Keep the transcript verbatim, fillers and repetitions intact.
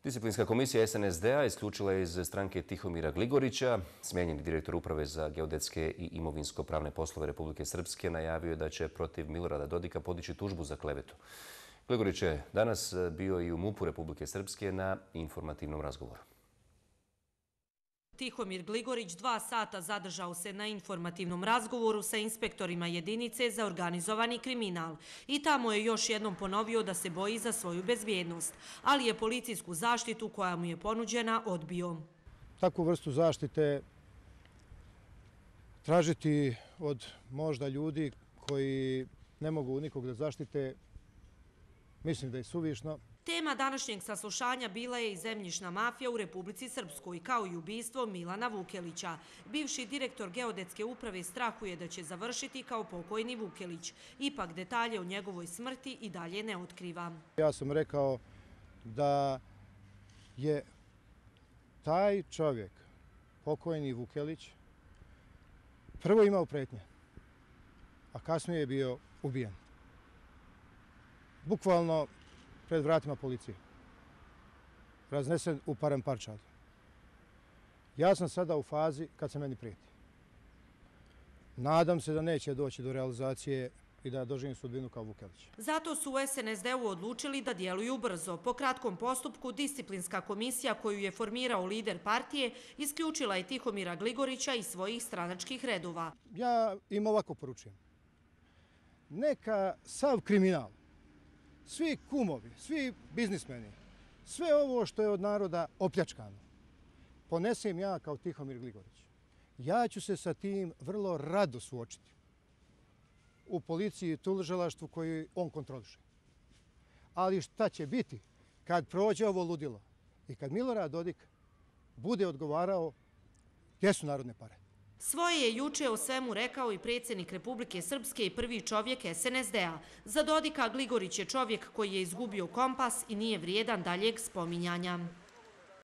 Disciplinska komisija S N S D-a isključila je iz stranke Tihomira Gligorića. Smijenjeni direktor Uprave za geodetske i imovinsko-pravne poslove Republike Srpske najavio je da će protiv Milorada Dodika podići tužbu za klevetu. Gligorić je danas bio i u MUP-u Republike Srpske na informativnom razgovoru. Tihomir Gligorić dva sata zadržao se na informativnom razgovoru sa inspektorima jedinice za organizovani kriminal i tamo je još jednom ponovio da se boji za svoju bezbjednost, ali je policijsku zaštitu koja mu je ponuđena odbio. Takvu vrstu zaštite tražiti od možda ljudi koji ne mogu nikog da zaštite, mislim da je suvišno. Tema današnjeg saslušanja bila je i zemljišna mafija u Republici Srpskoj, kao i ubistvo Milana Vukelića. Bivši direktor geodetske uprave strahuje da će završiti kao pokojni Vukelić. Ipak detalje o njegovoj smrti i dalje ne otkriva. Ja sam rekao da je taj čovjek, pokojni Vukelić, prvo imao pretnje, a kasnije je bio ubijen. Bukvalno pred vratima policije. Raznesen u parem parčad. Ja sam sada u fazi kad se meni prijeti. Nadam se da neće doći do realizacije i da doživim sudbinu kao Vukelić. Zato su u S N S D-u odlučili da djeluju brzo. Po kratkom postupku disciplinska komisija koju je formirao lider partije isključila je Tihomira Gligorića iz svojih stranačkih redova. Ja im ovako poručujem. Neka sav kriminal, svi kumovi, svi biznismeni, sve ovo što je od naroda opljačkano, ponesem ja kao Tihomir Gligorić. Ja ću se sa tim vrlo rado suočiti u policiji i tužilaštvu koji on kontroliše. Ali šta će biti kad prođe ovo ludilo i kad Milorad Dodik bude odgovarao gdje su narodne pare? Svoje je juče o svemu rekao i predsjednik Republike Srpske i prvi čovjek S N S D-a. Za Dodika Gligorić je čovjek koji je izgubio kompas i nije vrijedan daljeg spominjanja.